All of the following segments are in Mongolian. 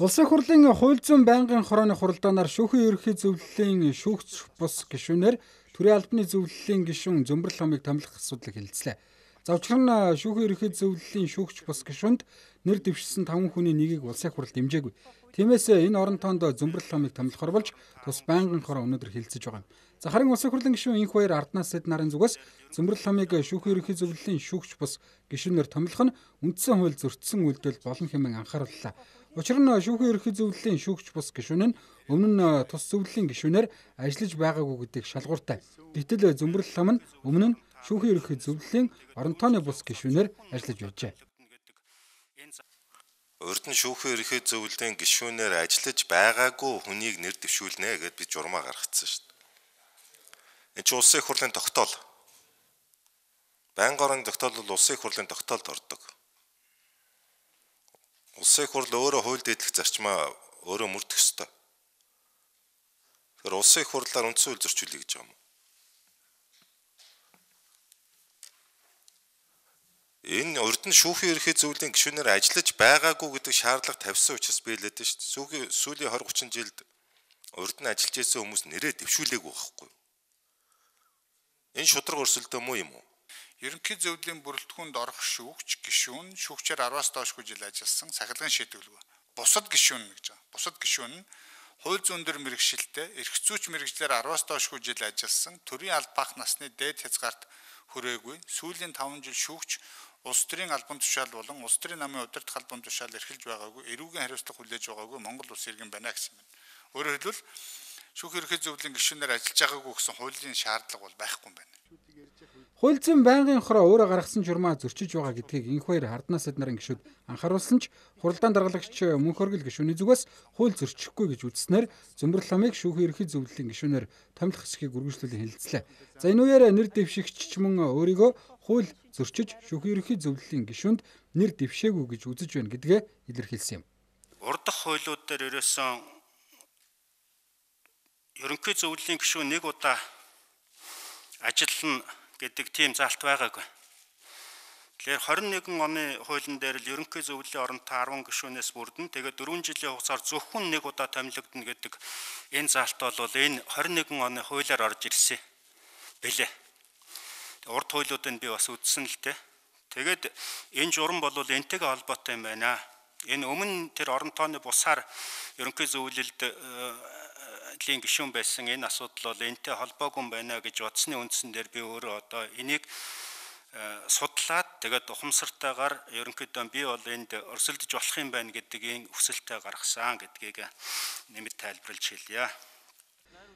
Улсын хурлын хууль зүйн байнгын хорооны хуралдаанаар шүүхийн ерөнхий зөвлөлийн шүүгч бус гишүүнээр төрийн албаны зөвлөлийн гишүүн Зөмбөрл хамыг томилох асуудлыг хэлэлцлээ. Завчар нь шүүхийн ерөнхий зөвлөлийн шүүгч бус гишүүнд нэр дэвшсэн 5 хүний нэгийг улсын хурал дэмжээгүй. Тиймээс энэ оронтоонд Зөмбөрл хамыг томилохор болж тус байнгын хороо өнөөдөр хэлэлцэж байгаа юм. За харин улсын хурлын гишүүн Инх Баяр Арднаас Сэд нарын зүгээс Зөмбөрл хамыг шүүхийн ерөнхий зөвлөлийн шүүгч бус гишүүнээр томилох нь үндсэн хууль зөрчсөн үйлдэл болно хэмээн анхаарууллаа. Учир нь шүүхийн ерөнхий зөвлөлийн шүүгч бус гишүүн нь өмнө нь тус зөвлөлийн гишүүнээр ажиллаж байгаагүй гэдгийг шалгууртай. Гэтэл Зөмбөрл хам нь өмнө нь шүүхийн ерөнхий зөвлөлийн оронтооны бус гишүүнээр ажиллаж байжээ. Урд нь шүүхийн ерөнхий зөвлөлийн гишүүнээр ажиллаж байгаагүй хүнийг нэр дэвшүүлнэ гэдээ би журмаа гаргацсан шүү дээ. Энэ ч улсын хурлын тогтоол. Байнгын хорооны тогтоол бол улсын хурлын тогтоолд ордог. Улсын хурл өөрөө хууль дэдлэх зарчмаа өөрөө мөрдөх ёстой. Тэгэхээр улсын хурлаар үндсэн хууль зөрчүүлье гэж байгаа юм. Энэ урд нь шүүхийн ерөнхий зөвлөлийн гишүүнээр ажиллаж байгаагүй гэдэг шаардлага тавьсан учраас биелээд шүү дээ. Сүүлийн 20-30 жилд урд нь ажиллаж байсан хүмүүс нэрээ дэвшүүлээгүй байхгүй юу? Энэ шудраг өрсөлдөө муу юм уу? Ерөнхий зөвлөлийн бүрэлдэхүүнд орох шүүгч гишүүн шүүгчээр 10-аас доошгүй жил ажилласан сахилгын шийдвэрлэв. Бусад гишүүн гэж байгаа. Бусад гишүүн нь хууль зүйн дөр мэргэжилтэй эрх зүйч мэргэжлэр 10-аас доошгүй жил ажилласан төрийн аль бах насны дээд хязгаарт хүрээгүй сүүлийн 5 жил шүүгч улс төрийн албан тушаал болон улс төрийн намын удирдах албан тушаал эрхэлж байгаагүй эрүүгийн хариуцлага хүлээж байгаагүй Монгол улс иргэн байна гэсэн юм. Өөрөөр хэлбэл шүүхийн ерөнхий зөвлөлийн гишүүнээр ажиллаж байгаагүй гэсэн хуулийн шаардлага бол байхгүй юм байна. Хууль зүйн байнгын хороо өөрөө гаргасан журмаа зөрчиж байгаа гэдгийг Инх Баяр Арднаас Сэд нарын гишүүд анхааруулсан ч хуралдаан даргалагч Мөнх Оргил гишүүний зүгээс хууль зөрчихгүй гэж үзснээр Зөмбөрл хамыг шүүхийн ерөнхий зөвлөлийн гишүүнээр томилох эсхийг үргэлжлүүлэн хэлэлцлээ. За энэ үеэр нэр дэвшигч ч мөн өөрийгөө хууль зөрчиж шүүхийн ерөнхий зөвлөлийн гишүүнд нэр дэвшээгүй гэж үзэж байна гэдгээ илэрхийлсэн юм. Урд дах хуулиуд дээр ерөөсөн ерөнхий зөвлөлийн гишүүн нэг удаа ажиллана гэдэг тийм заалт байгаагүй. Тэгэхээр 21 оны хуулийн дээр л ерөнхий зөвлөлийн оронтой 10 гишүүнээс бүрдэн тэгээд 4 жилийн хугацаар зөвхөн нэг удаа томилогдно гэдэг энэ заалт бол энэ 21 оны хуулиар орж ирсэн бэлээ. Урд хуулиудыг би бас үзсэн л дээ. Тэгээд энэ журам бол энтэйгээ холбоотой юм байна. Энэ өмнө тэр оронтооны бусаар ерөнхий зөвлөлд лийн гишүүн байсан энэ асуудал бол энтэй холбоогүй юм байна гэж бодсны үндсэн дээр би өөрөө одоо энийг судлаад тэгээд ухамсартайгаар ерөнхийдөө би бол энд өрсөлдөж болох юм байна гэдэг энэ өсөлтөй гаргасан гэдгийг нэмэт тайлбарлаж хэлье.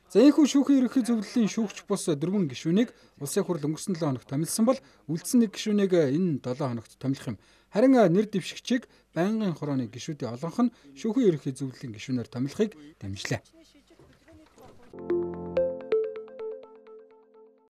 За энэхүү шүүхийн ерөнхий зөвлөлийн шүүгч бус 4 гишүүнийг улсын хурал өнгөрсөн 7 хоногт томилсон бол үлдсэн 1 гишүүнийг энэ 7 хоногт томилох юм. Харин нэр дэвшигчийг байнгын хорооны гишүүдийн олонх нь шүүхийн ерөнхий зөвлөлийн гишүүнээр томилохыг дэмжлээ.